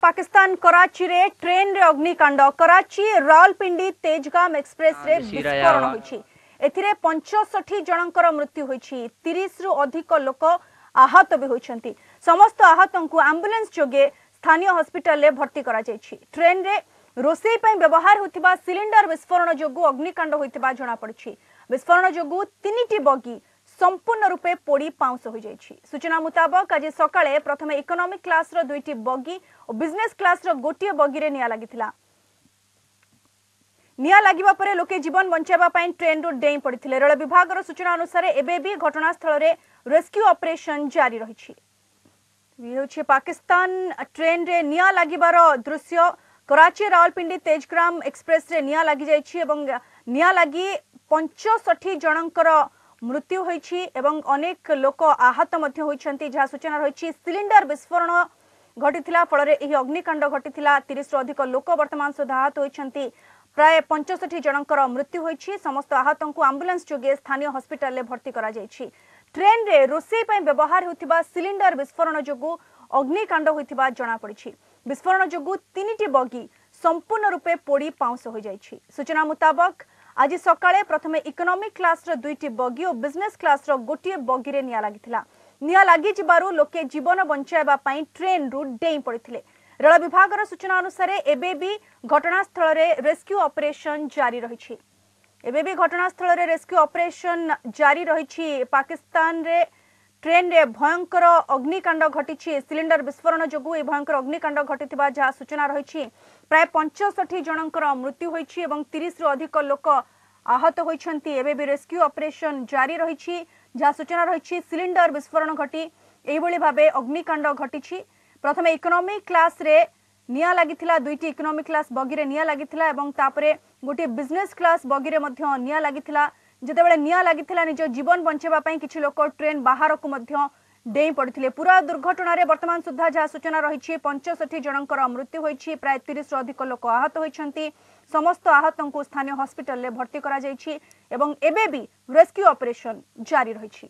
ପାକିସ୍ତାନ କରାଚିରେ ଟ୍ରେନରେ ଅଗ୍ନିକାଣ୍ଡ। କରାଚି ରାୱଲପିଣ୍ଡି ତେଜଗାମ ଏକ୍ସପ୍ରେସରେ ବିସ୍ଫୋରଣ ହୋଇଛି। ଏଥିରେ 65 ଜଣଙ୍କର ମୃତ୍ୟୁ ହୋଇଛି, 30ରୁ ଅଧିକ ଲୋକ ଆହତ ବି ହୋଇଛନ୍ତି। ସମସ୍ତ ଆହତଙ୍କୁ ଆମ୍ବୁଲାନ୍ସ ଯୋଗେ ସ୍ଥାନୀୟ ହସ୍ପିଟାଲରେ ଭର୍ତ୍ତି କରାଯାଇଛି। ଟ୍ରେନରେ ରୋଷେଇ ପାଇଁ ବ୍ୟବହାର ହେଉଥିବା ସିଲିଣ୍ଡର ବିସ୍ଫୋରଣ ଯୋଗୁଁ ଅଗ୍ନିକାଣ୍ଡ ହୋଇଥିବା ଜଣାପଡ଼ିଛି। ବିସ୍ଫୋରଣ ଯୋଗୁଁ 3ଟି ବଗି ସମ୍ପୂର୍ଣ୍ଣ ରୂପେ ପୋଡ଼ି ପାଉଁଶ ହୋଇଯାଇଛି। ସୂଚନା ମୁତାବକ ଆଜି ସକାଳେ ପ୍ରଥମେ ଇକୋନୋମିକ୍ କ୍ଲାସର 2ଟି ବଗି ଓ ବିଜନେସ୍ କ୍ଲାସର ଗୋଟିଏ ବଗିରେ ନିଆଁ ଲାଗିଥିଲା। ନିଆଁ ଲାଗିବା ପରେ ଲୋକେ ଜୀବନ ବଞ୍ଚାଇବା ପାଇଁ ଟ୍ରେନ୍ରୁ ଡେଇଁ ପଡ଼ିଥିଲେ। ରେଳ ବିଭାଗର ସୂଚନା ଅନୁସାରେ ଏବେ ବି ଘଟଣାସ୍ଥଳରେ ରେସ୍କ୍ୟୁ ଅପରେସନ ଜାରି ରହିଛି। ଇଏ ହେଉଛି ପାକିସ୍ତାନ ଟ୍ରେନ୍ରେ ନିଆଁ ଲାଗିବାର ଦୃଶ୍ୟ। କରାଚି ରାୱଲପିଣ୍ଡି ତେଜଗ୍ରାମ ଏକ୍ସପ୍ରେସରେ ନିଆଁ ଲାଗିଯାଇଛି ଏବଂ ନିଆଁ ଲାଗି 65 ଜଣଙ୍କର ମୃତ୍ୟୁ ହୋଇଛି ଏବଂ ଅନେକ ଲୋକ ଆହତ ମଧ୍ୟ ହୋଇଛନ୍ତି। ଯାହା ସୂଚନା ରହିଛି, ସିଲିଣ୍ଡର ବିସ୍ଫୋରଣ ଘଟିଥିଲା, ଫଳରେ ଏହି ଅଗ୍ନିକାଣ୍ଡ ଘଟିଥିଲା। 30ରୁ ଅଧିକ ଲୋକ ବର୍ତ୍ତମାନ ସୁଦ୍ଧା ଆହତ ହୋଇଛନ୍ତି, ପ୍ରାୟ 65 ଜଣଙ୍କର ମୃତ୍ୟୁ ହୋଇଛି। ସମସ୍ତ ଆହତଙ୍କୁ ଆମ୍ବୁଲାନ୍ସ ଯୋଗେ ସ୍ଥାନୀୟ ହସ୍ପିଟାଲରେ ଭର୍ତ୍ତି କରାଯାଇଛି। ଟ୍ରେନ୍ରେ ରୋଷେଇ ପାଇଁ ବ୍ୟବହାର ହେଉଥିବା ସିଲିଣ୍ଡର ବିସ୍ଫୋରଣ ଯୋଗୁଁ ଅଗ୍ନିକାଣ୍ଡ ହୋଇଥିବା ଜଣାପଡ଼ିଛି। ବିସ୍ଫୋରଣ ଯୋଗୁଁ 3ଟି ବଗି ସମ୍ପୂର୍ଣ୍ଣ ରୂପେ ପୋଡ଼ି ପାଉଁଶ ହୋଇଯାଇଛି। ସୂଚନା ମୁତାବକ ଆଜି ସକାଳେ ପ୍ରଥମେ ଇକୋନୋମିକ୍ କ୍ଲାସର 2ଟି ବଗି ଓ ବିଜନେସ୍ କ୍ଲାସର ଗୋଟିଏ ବଗିରେ ନିଆଁ ଲାଗିଥିଲା। ନିଆଁ ଲାଗିଯିବାରୁ ଲୋକେ ଜୀବନ ବଞ୍ଚାଇବା ପାଇଁ ଟ୍ରେନ୍ରୁ ଡେଇଁ ପଡ଼ିଥିଲେ। ରେଳ ବିଭାଗର ସୂଚନା ଅନୁସାରେ ଏବେ ବି ଘଟଣାସ୍ଥଳରେ ରେସ୍କ୍ୟୁ ଅପରେସନ ଜାରି ରହିଛି। ଏବେ ବି ଘଟଣାସ୍ଥଳରେ ରେସ୍କ୍ୟୁ ଅପରେସନ ଜାରି ରହିଛି। ପାକିସ୍ତାନରେ ଟ୍ରେନ୍ରେ ଭୟଙ୍କର ଅଗ୍ନିକାଣ୍ଡ ଘଟିଛି। ସିଲିଣ୍ଡର ବିସ୍ଫୋରଣ ଯୋଗୁଁ ଏହି ଭୟଙ୍କର ଅଗ୍ନିକାଣ୍ଡ ଘଟିଥିବା ଯାହା ସୂଚନା ରହିଛି। ପ୍ରାୟ 65 ଜଣଙ୍କର ମୃତ୍ୟୁ ହୋଇଛି ଏବଂ 30ରୁ ଅଧିକ ଲୋକ ଆହତ ହୋଇଛନ୍ତି। ଏବେ ବି ରେସ୍କ୍ୟୁ ଅପରେସନ ଜାରି ରହିଛି। ଯାହା ସୂଚନା ରହିଛି, ସିଲିଣ୍ଡର ବିସ୍ଫୋରଣ ଘଟି ଏଇଭଳି ଭାବେ ଅଗ୍ନିକାଣ୍ଡ ଘଟିଛି। ପ୍ରଥମେ ଇକୋନୋମିକ୍ କ୍ଲାସରେ ନିଆଁ ଲାଗିଥିଲା, 2ଟି ଇକୋନୋମିକ୍ କ୍ଲାସ ବଗିରେ ନିଆଁ ଲାଗିଥିଲା ଏବଂ ତାପରେ ଗୋଟିଏ ବିଜନେସ୍ କ୍ଲାସ ବଗିରେ ମଧ୍ୟ ନିଆଁ ଲାଗିଥିଲା। ଯେତେବେଳେ ନିଆଁ ଲାଗିଥିଲା, ନିଜ ଜୀବନ ବଞ୍ଚାଇବା ପାଇଁ କିଛି ଲୋକ ଟ୍ରେନ୍ ବାହାରକୁ ମଧ୍ୟ ଡେଇଁ ପଡ଼ିଥିଲେ। ପୁରା ଦୁର୍ଘଟଣାରେ ବର୍ତ୍ତମାନ ସୁଦ୍ଧା ଯାହା ସୂଚନା ରହିଛି, 65 ଜଣଙ୍କର ମୃତ୍ୟୁ ହୋଇଛି, ପ୍ରାୟ 30ରୁ ଅଧିକ ଲୋକ ଆହତ ହୋଇଛନ୍ତି। ସମସ୍ତ ଆହତଙ୍କୁ ସ୍ଥାନୀୟ ହସ୍ପିଟାଲରେ ଭର୍ତ୍ତି କରାଯାଇଛି ଏବଂ ଏବେ ବି ରେସ୍କ୍ୟୁ ଅପରେସନ ଜାରି ରହିଛି।